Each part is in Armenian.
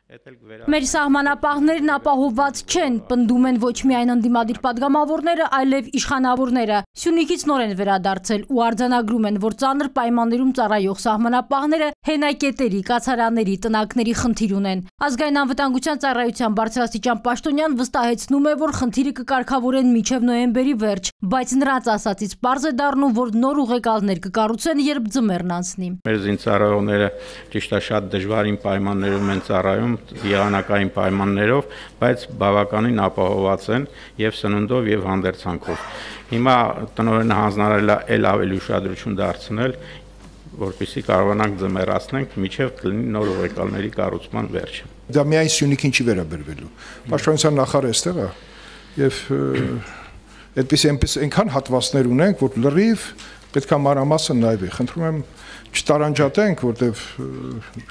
Մեր սահմանապահներն ապահովված չեն, պնդում են ոչ միայն ընդդիմադիր պատգամավորները, այլև իշխանավորները։ Սյունիքից նոր են վերադարձել ու արձանագրում են, որ ծանր պայմաններում ծառայող սահմանապահները հենակետերի, կացարանների, տնակների խնդիր ունեն։ Ազգային անվտանգության ծառայության բարձրաստիճան պաշտոնյան վստահեցնում է, որ խնդիրը կկարգավորեն մինչև նոյեմբերի վերջ, բայց նրանց ասածից պարզ է դառնում, որ նոր ուղեկալներ կկառուցեն, երբ ձմեռն անցնի։ Մեր զինծառայողները ճիշտ է շատ դժվարին պայմաններում են ծառայում, եղանակային պայմաններով, բայց բավականին ապահովված են եւ սննդով եւ հանդերձանքով։ Հիմա տնօրենը հանձնարարել է ել ավելի ուշադրություն դարձնել, որպեսզի կարողանանք ձմեռացնենք մինչև կլինի նոր ուղեկալների կառուցման վերջը։ Դա միայն Սյունիքին չի վերաբերվելու։ Պաշտպանության նախարարը այստեղ է եւ այդպես այնքան հատվածներ ունենք, որ լրիվ պետք է մանրամասն նայվի։ Խնդրում եմ չտարանջատենք, որտեվ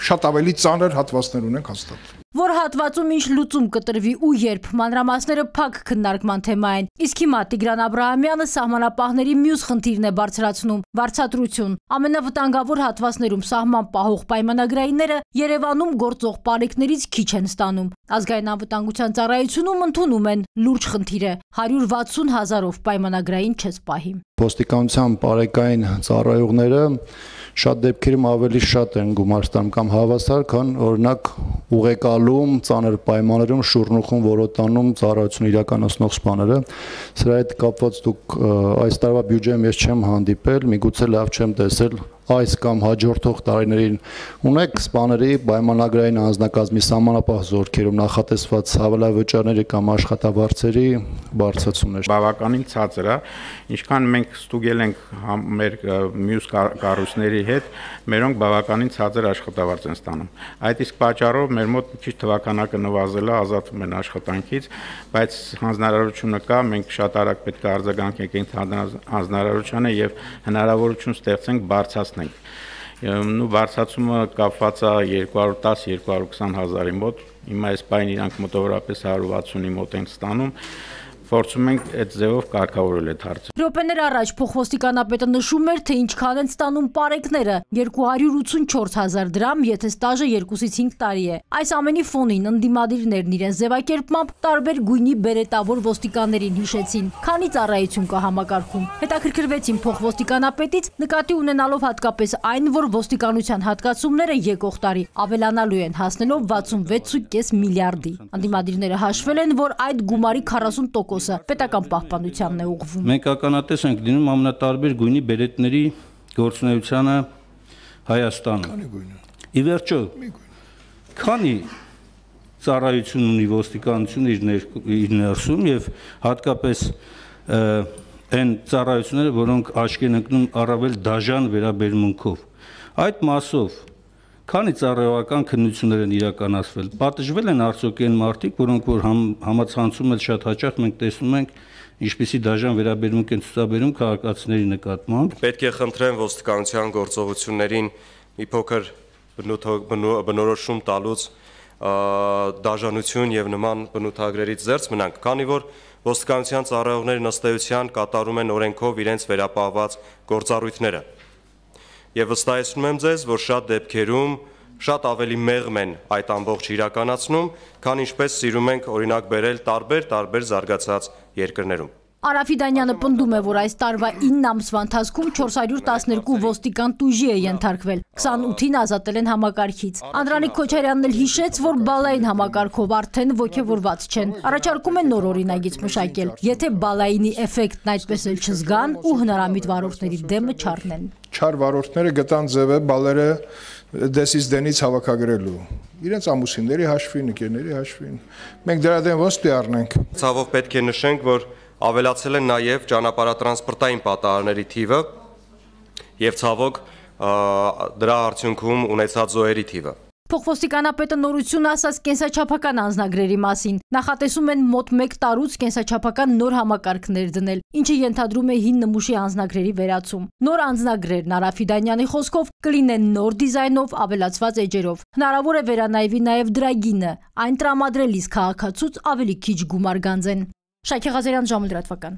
շատ ավելի ծանր հատվածներ ունենք հաստատ։ Որ հատվածում ինչ լուծում կտրվի ու երբ, մանրամասները փակ քննարկման թեմա են։ Իսկ հիմա Տիգրան Աբրահամյանը սահմանապահների մյուս խնդիրն է բարձրացնում՝ վարձատրություն։ Ամենավտանգավոր հատվածներում սահման պահող պայմանագրայինները Երևանում գործող պարեկներից քիչ են ստանում։ Ազգային անվտանգության ծառայությունում ընդունում են լուրջ խնդիր է՝ 160 000-ով պայմանագրային չես պահի։ Ոստիկանության պարեկային ծառայողները շատ դեպքերում ավելի շատ են գումար ստանում կամ հավասար, քան օրինակ ուղեկալում, ծանր պայմաններում շուռնուխում որոտանում ծառայություն իրականացնող սպաները։ Սրա հետ կապված դուք այս տարվա բյուջեում ես չեմ հանդիպել, միգուցե լավ չեմ տեսել այս կամ հաջորդող տարիներին ունեք սպաների պայմանագրային անձնակազմի սահմանապահ զորքերում նախատեսված հավելավճարների կամ աշխատավարձերի բարձրացումներ։ Բավականին ցածր է, ինչքան մենք ստուգել ենք մեր մյուս կառույցների հետ, մերոնք բավականին ցածր աշխատավարձ են ստանում։ Այդ իսկ պատճառով մեր մոտ քիչ թվականակը նվազել է, ազատվում են աշխատանքից, բայց հանձնարարությունը կա, մենք շատ արագ պետք է արձագանքենք այդ հանձնարարությանը եւ հնարավորություն ստեղծենք բարձրացնել։ Նու բարձրացումը կապված է 210-220 հազարի մոտ, հիմա այս պայն իրանք մոտավորապես 160-ի մոտ են ստանում, փորձում ենք այդ ձևով կարգավորել այդ հարցը։ Րոպեներ առաջ փոխոստիկանապետը նշում էր, թե ինչքան են ստանում պարեկները՝ 284 000 դրամ, եթե ստաժը 2-ից 5 տարի է։ Այս ամենի ֆոնին ընդդիմադիրներն իրենց ձևակերպմամբ տարբեր գույնի բերետավոր ոստիկաններին հիշեցին, քանի ծառայություն կա համակարգում։ Հետաքրքրվեցին փոխոստիկանապետից, նկատի ունենալով հատկապես այն, որ ոստիկանության հատկացումները եկող տարի ավելանալու են, հասնելով 66.5 միլիարդի։ Ընդդիմադիրները հաշվել են, որ այդ գումարի 40% պետական պահպանությանն է ուղղվում։ Մենք ականատես ենք լինում ամենատարբեր գույնի բերետների գործունեությանը Հայաստանում։ Ի վերջո, քանի ծառայություն ունի ոստիկանությունը իր ներսում եւ հատկապես այն ծառայությունները, որոնք աչքի են ընկնում առավել դաժան վերաբերմունքով։ Այդ մասով քանի ծառայողական քննություններ են իրականացվել, պատժվել են արդյոք այն մարդիկ, որոնք որ համացանցում էլ շատ հաճախ մենք տեսնում ենք, ինչպիսի դաժան վերաբերմունք են ցուցաբերում քաղաքացիների նկատմամբ։ Պետք է խնդրեմ ոստիկանության գործողություններին մի փոքր բնորոշում տալուց դաժանություն եւ նման բնութագրերից զերծ մնանք, քանի որ ոստիկանության ծառայողներն ըստ էության կատարում են օրենքով իրենց վերապահված գործառույթները։ Եվ վստահեցնում եմ ձեզ, որ շատ դեպքերում շատ ավելի մեղմ են այդ ամբողջ իրականացնում, քան ինչպես սիրում ենք օրինակ բերել տարբեր զարգացած երկրներում։ Արաֆիդանյանը պնդում է, որ այս տարվա 9 ամսվա ընթացքում 412 ոստիկան տուժի է ենթարկվել, 28-ին ազատել են համակարգից։ Անդրանիկ Քոչարյանն էլ հիշեց, որ բալային համակարգով արդեն ոգևորված չեն։ Առաջարկում են նոր օրինագիծ մշակել, եթե բալայինի էֆեկտն այդպես էլ չզգան ու հնարամիտ վարորդների դեմը չառնեն։ Չար վարորդները գտան ձևը բալերը դեսից դենից հավաքագրելու։ Իրենց ամուսինների հաշվին, ընկերների հաշվին։ Մենք դրա դեմ ոստ առնենք։ Ցավով պետք է նշենք, որ ավելացել են նաև ճանապարհատրանսպորտային պատահարների թիվը եւ ցավոք դրա արդյունքում ունեցած զոհերի թիվը։ Փոխոստիկանապետը նորություն ասաց կենսաչափական անձնագրերի մասին։ Նախատեսում են մոտ 1 տարուց կենսաչափական նոր համակարգներ դնել, ինչը ենթադրում է հին նմուշի անձնագրերի վերացում։ Նոր անձնագրերն Արաֆիդանյանի խոսքով կլինեն նոր դիզայնով, ավելացված էջերով։ Հնարավոր է վերանայվի նաև դրագինը, այն տրամադրելիս քաղաքացուց ավելի քիչ գումար գանձեն։ Շայքի Ղազարյան, ժամը լրատվական։